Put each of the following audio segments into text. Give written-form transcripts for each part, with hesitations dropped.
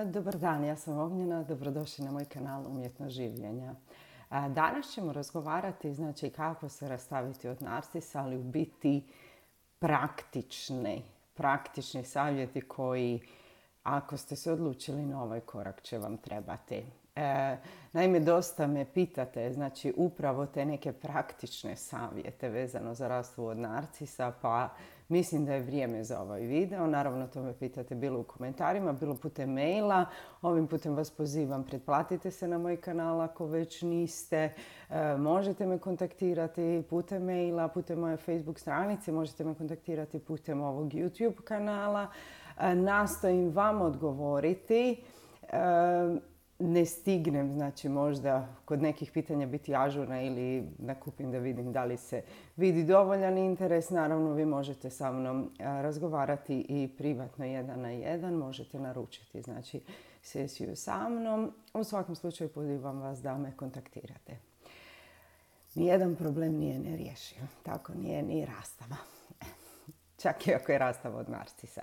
Dobar dan, ja sam Ognjena, dobrodošli na moj kanal Umjetnost življenja. Danas ćemo razgovarati kako se rastaviti od narcisa, ali u biti praktični savjeti koji, ako ste se odlučili na ovaj korak, će vam trebati. Naime, dosta me pitate, upravo te neke praktične savjete vezano za rastavu od narcisa, pa mislim da je vrijeme za ovaj video. Naravno, to me pitate bilo u komentarima, bilo putem maila. Ovim putem vas pozivam, pretplatite se na moj kanal ako već niste. Možete me kontaktirati putem maila, putem moje Facebook stranice, možete me kontaktirati putem ovog YouTube kanala. Nastojim vam odgovoriti. Ne stignem, možda kod nekih pitanja biti ažurna ili nakupim da vidim da li se vidi dovoljan interes. Naravno, vi možete sa mnom razgovarati i privatno 1 na 1. Možete naručiti, sesiju sa mnom. U svakom slučaju pozivam vas da me kontaktirate. Nijedan problem nije nerješiv. Tako nije ni rastava. Čak i ako je rastava od narcisa.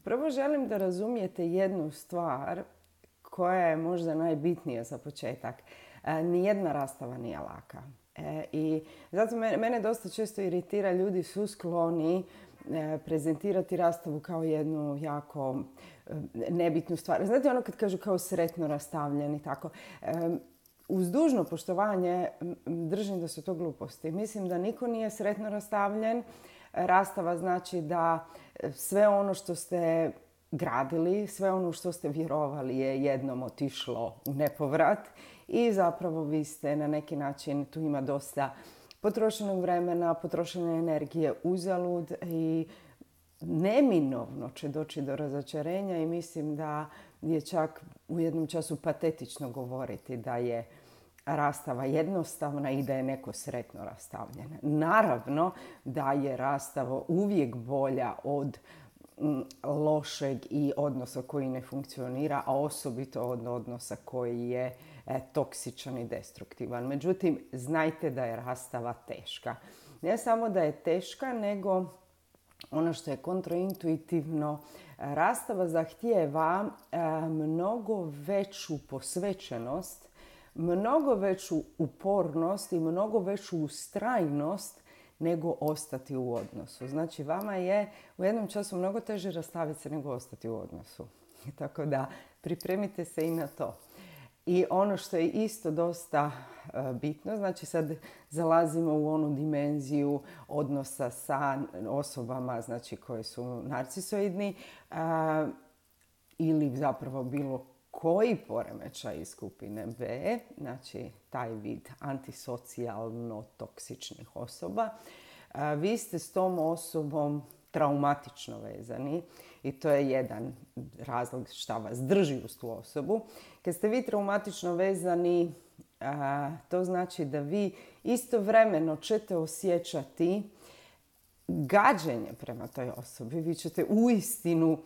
Prvo želim da razumijete jednu stvar koja je možda najbitnija za početak. Nijedna rastava nije laka. I zato mene dosta često iritira, ljudi su skloni prezentirati rastavu kao jednu jako nebitnu stvar. Znate ono kad kažu kao sretno rastavljen i tako. Uz dužno poštovanje držim da su to gluposti. Mislim da niko nije sretno rastavljen. Rastava znači da sve ono što ste gradili, sve ono što ste vjerovali je jednom otišlo u nepovrat i zapravo vi ste na neki način, tu ima dosta potrošenog vremena, potrošene energije uzalud i neminovno će doći do razočarenja i mislim da je čak u jednom času patetično govoriti da je rastava jednostavna i da je neko sretno rastavljen. Naravno da je rastava uvijek bolja od lošeg i odnosa koji ne funkcionira, a osobito od odnosa koji je toksičan i destruktivan. Međutim, znajte da je rastava teška. Ne samo da je teška, nego ono što je kontraintuitivno, rastava zahtijeva mnogo veću posvećenost, mnogo veću upornost i mnogo veću ustrajnost nego ostati u odnosu. Znači, vama je u jednom času mnogo teže rastaviti se nego ostati u odnosu. Tako da pripremite se i na to. I ono što je isto dosta bitno, sad zalazimo u onu dimenziju odnosa sa osobama koje su narcisoidni ili zapravo bilo koji poremećaj iz skupine B, taj vid antisocijalno toksičnih osoba, vi ste s tom osobom traumatično vezani i to je jedan razlog šta vas drži uz tu osobu. Kad ste vi traumatično vezani, to znači da vi istovremeno ćete osjećati gađenje prema toj osobi. Vi ćete uistinu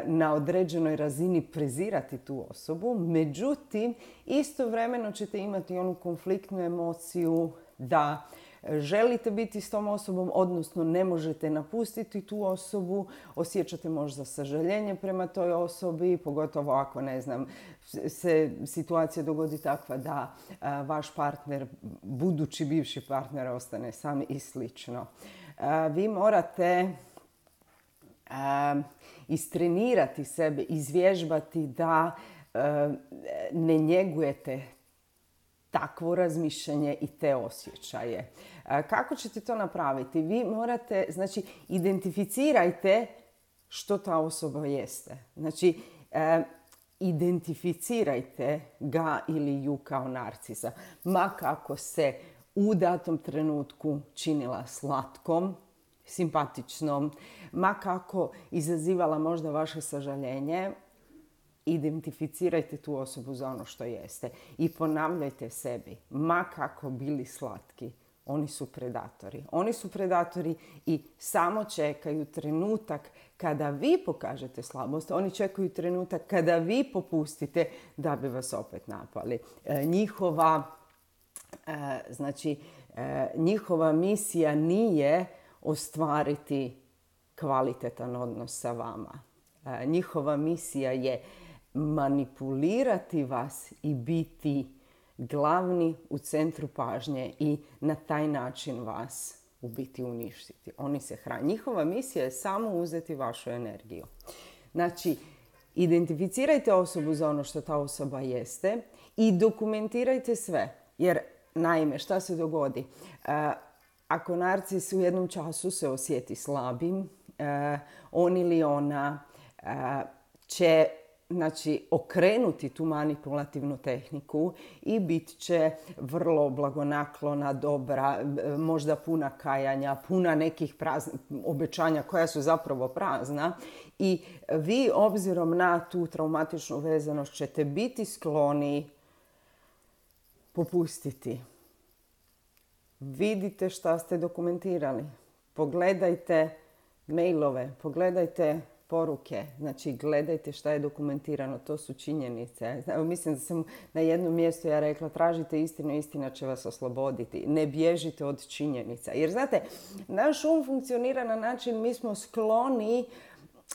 na određenoj razini prezirati tu osobu, međutim, istovremeno ćete imati onu konfliktnu emociju da želite biti s tom osobom, odnosno ne možete napustiti tu osobu, osjećate možda sažaljenje prema toj osobi, pogotovo ako, se situacija dogodi takva da vaš partner, budući bivši partner, ostane sam i slično. Vi morate istrenirati sebe, izvježbati da ne njegujete takvo razmišljanje i te osjećaje. Kako ćete to napraviti? Vi morate, identificirajte što ta osoba jeste. Identificirajte ga ili ju kao narcisa. Ma kako se u datom trenutku činila slatkom, simpatičnom, ma kako izazivala možda vaše sažaljenje, identificirajte tu osobu za ono što jeste. I ponavljajte sebi, ma kako bili slatki, oni su predatori. Oni su predatori i samo čekaju trenutak kada vi pokažete slabost. Oni čekaju trenutak kada vi popustite da bi vas opet napali. Njihova misija nije ostvariti kvalitetan odnos sa vama. Njihova misija je manipulirati vas i biti glavni u centru pažnje i na taj način vas u biti uništiti. Oni se hrane. Njihova misija je samo uzeti vašu energiju. Znači, identificirajte osobu za ono što ta osoba jeste i dokumentirajte sve. Jer, naime, šta se dogodi? Ako narcis u jednom času se osjeti slabim, on ili ona će okrenuti tu manipulativnu tehniku i bit će vrlo blagonaklona, dobra, možda puna kajanja, puna nekih obećanja koja su zapravo prazna. I vi, obzirom na tu traumatičnu vezanost, ćete biti skloni popustiti. Vidite šta ste dokumentirali. Pogledajte mailove, pogledajte poruke, znači gledajte šta je dokumentirano, to su činjenice. Mislim da sam na jednom mjestu ja rekla, tražite istinu, istina će vas osloboditi. Ne bježite od činjenica. Jer znate, naš funkcionira na način, mi smo skloni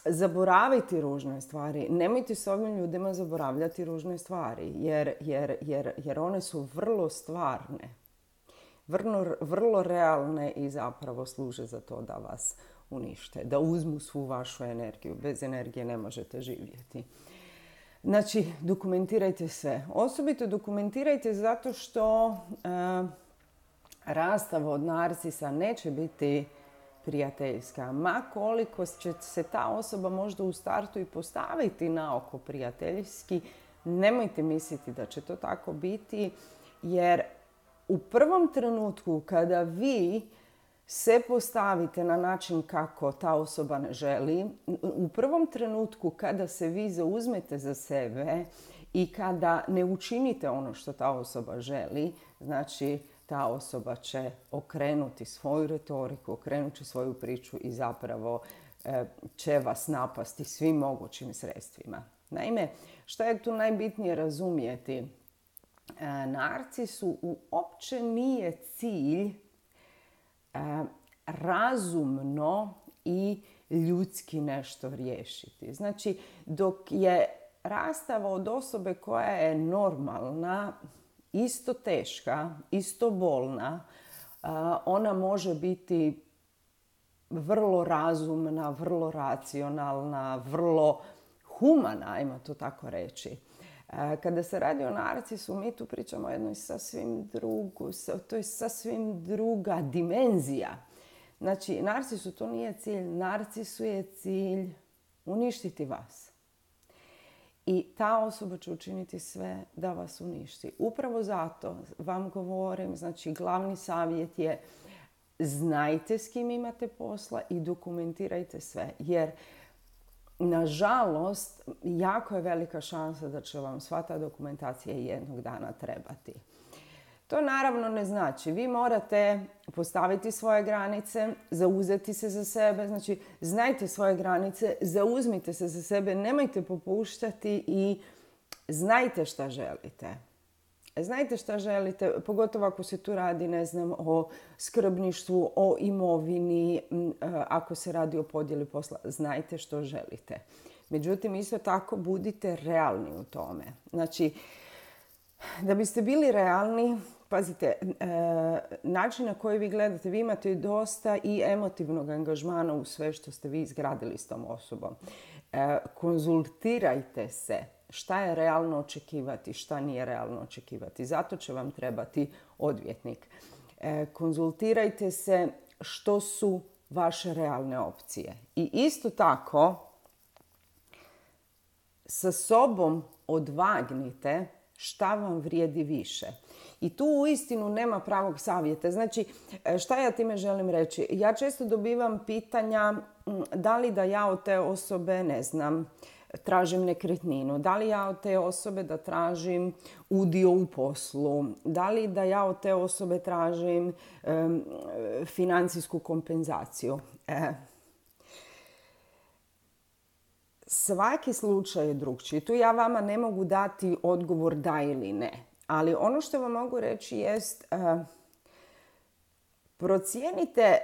zaboraviti ružne stvari. Nemojte s ovim ljudima zaboravljati ružne stvari, jer one su vrlo stvarne, vrlo realne i zapravo služe za to da vas unište, da uzmu svu vašu energiju. Bez energije ne možete živjeti. Znači, dokumentirajte sve. Osobito dokumentirajte zato što rastava od narcisa neće biti prijateljska. Ma koliko će se ta osoba možda u startu i postaviti na oko prijateljski, nemojte misliti da će to tako biti, jer u prvom trenutku kada vi se postavite na način kako ta osoba ne želi, u prvom trenutku kada se vi zauzmete za sebe i kada ne učinite ono što ta osoba želi, znači ta osoba će okrenuti svoju retoriku, okrenuti svoju priču i zapravo će vas napasti svim mogućim sredstvima. Naime, što je tu najbitnije razumjeti? Narcisu uopće nije cilj razumno i ljudski nešto riješiti. Znači, dok je rastava od osobe koja je normalna, isto teška, isto bolna, ona može biti vrlo razumna, vrlo racionalna, vrlo humana, ajmo to tako reći. Kada se radi o narcisu, mi tu pričamo o jednoj to je sasvim druga dimenzija. Znači, narcisu to nije cilj. Narcisu je cilj uništiti vas. I ta osoba će učiniti sve da vas uništi. Upravo zato vam govorim, znači glavni savjet je znajte s kim imate posla i dokumentirajte sve. Jer nažalost, jako je velika šansa da će vam sva ta dokumentacija jednog dana trebati. To naravno ne znači. Vi morate postaviti svoje granice, zauzeti se za sebe. Znači, znajte svoje granice, zauzmite se za sebe, nemojte popuštati i znajte šta želite. Znajte šta želite, pogotovo ako se tu radi, o skrbništvu, o imovini, ako se radi o podjeli posla, znajte što želite. Međutim, isto tako budite realni u tome. Znači, da biste bili realni, pazite, način na koji vi gledate, vi imate dosta i emotivnog angažmana u sve što ste vi izgradili s tom osobom. Konzultirajte se. Šta je realno očekivati, šta nije realno očekivati. Zato će vam trebati odvjetnik. Konzultirajte se što su vaše realne opcije. I isto tako, sa sobom odvagnite šta vam vrijedi više. I tu uistinu nema pravog savjeta. Znači, šta ja time želim reći? Ja često dobivam pitanja da li da ja od te osobe, tražim nekretninu, da li ja od te osobe da tražim udio u poslu, da li da ja od te osobe tražim financijsku kompenzaciju. Svaki slučaj je drukčiji. Tu ja vama ne mogu dati odgovor da ili ne. Ali ono što vam mogu reći jest procijenite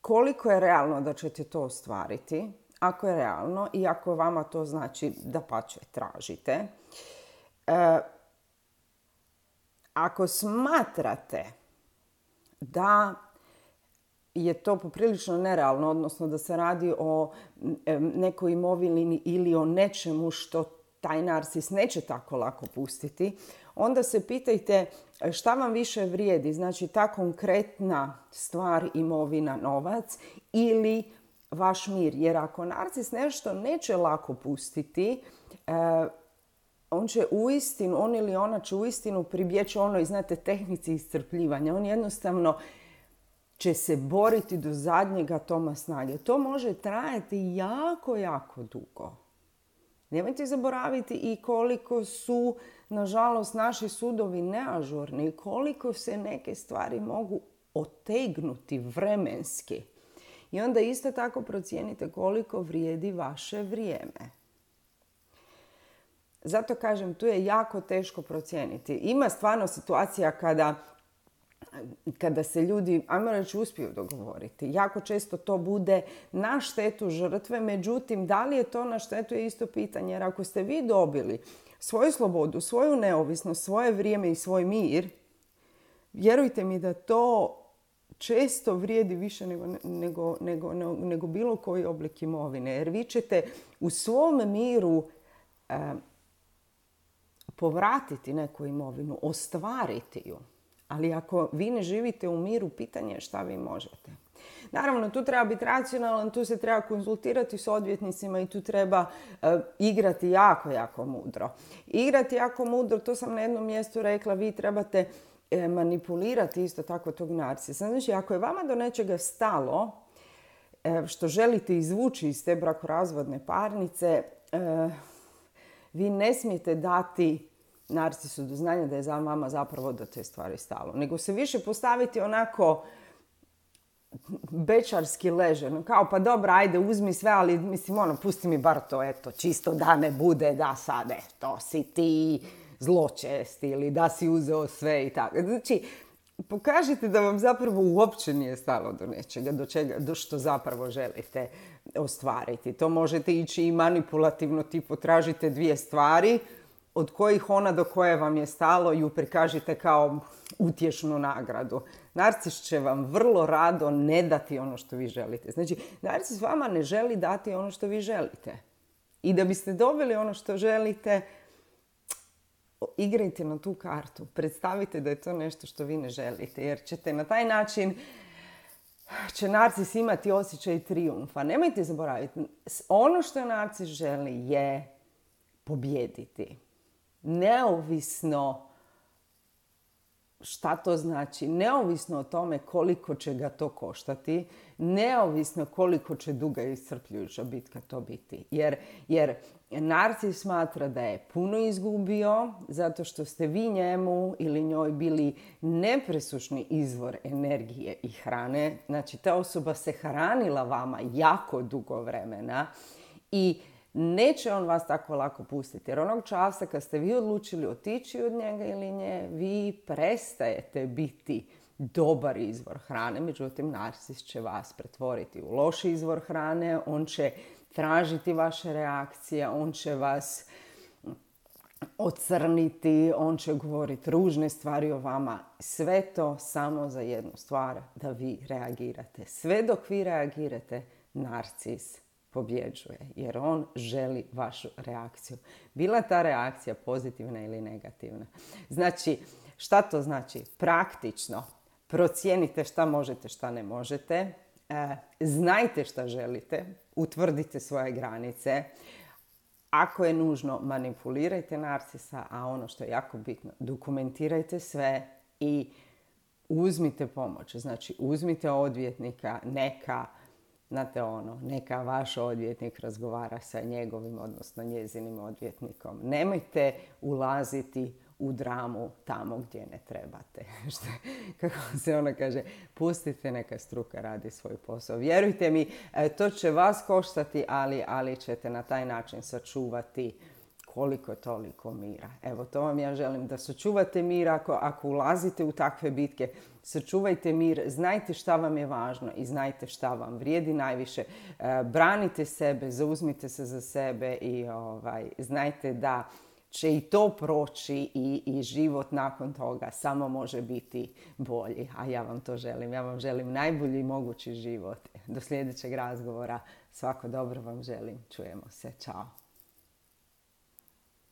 koliko je realno da ćete to ostvariti, ako je realno i ako vama to znači dapače tražite. Ako smatrate da je to poprilično nerealno, odnosno da se radi o nekoj imovini ili o nečemu što taj narcis neće tako lako pustiti, onda se pitajte šta vam više vrijedi, znači ta konkretna stvar, imovina, novac ili vaš mir. Jer ako narcis nešto neće lako pustiti, on će uistinu, on ili ona će uistinu pribjeći onoj, znate, tehnici iscrpljivanja. On jednostavno će se boriti do zadnjeg atoma snage. To može trajati jako, jako dugo. Nemojte zaboraviti i koliko su, nažalost, naši sudovi neažurni, koliko se neke stvari mogu otegnuti vremenski. I onda isto tako procijenite koliko vrijedi vaše vrijeme. Zato kažem, tu je jako teško procijeniti. Ima stvarno situacija kada se ljudi, ajmo reći, uspiju dogovoriti. Jako često to bude na štetu žrtve, međutim, da li je to na štetu je isto pitanje. Jer ako ste vi dobili svoju slobodu, svoju neovisnost, svoje vrijeme i svoj mir, vjerujte mi da to često vrijedi više nego bilo koji oblik imovine. Jer vi ćete u svom miru povratiti neku imovinu, ostvariti ju. Ali ako vi ne živite u miru, pitanje je šta vi možete. Naravno, tu treba biti racionalan, tu se treba konzultirati s odvjetnicima i tu treba igrati jako, jako mudro. Igrati jako mudro, to sam na jednom mjestu rekla, vi trebate manipulirati isto tako tog narcisa. Znači, ako je vama do nečega stalo, što želite izvući iz te brakorazvodne parnice, vi ne smijete dati narcisu do znanja da je za vama zapravo do te stvari stalo. Nego se više postaviti onako bečarski leženo. Kao pa dobro, ajde uzmi sve, ali mislim pusti mi bar to, eto, čisto da ne bude da sad, eto, si ti zločest ili da si uzeo sve i tako. Znači, pokažite da vam zapravo uopće nije stalo do nečega, do što zapravo želite ostvariti. To možete ići i manipulativno, tipo tražite dvije stvari od kojih ona do koje vam je stalo ju prikažite kao utješnu nagradu. Narcis će vam vrlo rado ne dati ono što vi želite. Znači, narcis vama ne želi dati ono što vi želite. I da biste dobili ono što želite, igrajte na tu kartu. Predstavite da je to nešto što vi ne želite. Jer ćete na taj način, će narcis imati osjećaj trijumfa. Nemojte zaboraviti, ono što narcis želi je pobijediti. Neovisno šta to znači, neovisno o tome koliko će ga to koštati, neovisno koliko će duga i iscrpljujuća bitka to biti. Jer narcis smatra da je puno izgubio zato što ste vi njemu ili njoj bili nepresušni izvor energije i hrane. Znači, ta osoba se hranila vama jako dugo vremena i neće on vas tako lako pustiti. Jer onog časa kad ste vi odlučili otići od njega ili nje, vi prestajete biti dobar izvor hrane. Međutim, narcis će vas pretvoriti u loš izvor hrane. On će tražiti vaše reakcije. On će vas ocrniti. On će govoriti ružne stvari o vama. Sve to samo za jednu stvar, da vi reagirate. Sve dok vi reagirate, narcis pobjeđuje, jer on želi vašu reakciju. Bila ta reakcija pozitivna ili negativna. Znači, šta to znači? Praktično, procijenite šta možete, šta ne možete. Znajte šta želite, utvrdite svoje granice. Ako je nužno, manipulirajte narcisa, a ono što je jako bitno, dokumentirajte sve i uzmite pomoć. Znači, uzmite odvjetnika, neka vaš odvjetnik razgovara sa njegovim, odnosno njezinim odvjetnikom. Nemojte ulaziti u dramu tamo gdje ne trebate. Kako se ona kaže, pustite neka struka radi svoj posao. Vjerujte mi, to će vas koštati, ali ćete na taj način sačuvati koliko toliko mira. Evo, to vam ja želim, da sačuvate mir ako ulazite u takve bitke. Sačuvajte mir, znajte šta vam je važno i znajte šta vam vrijedi najviše. Branite sebe, zauzmite se za sebe i znajte da će i to proći i život nakon toga samo može biti bolji. A ja vam to želim. Ja vam želim najbolji mogući život. Do sljedećeg razgovora. Svako dobro vam želim. Čujemo se. Ćao.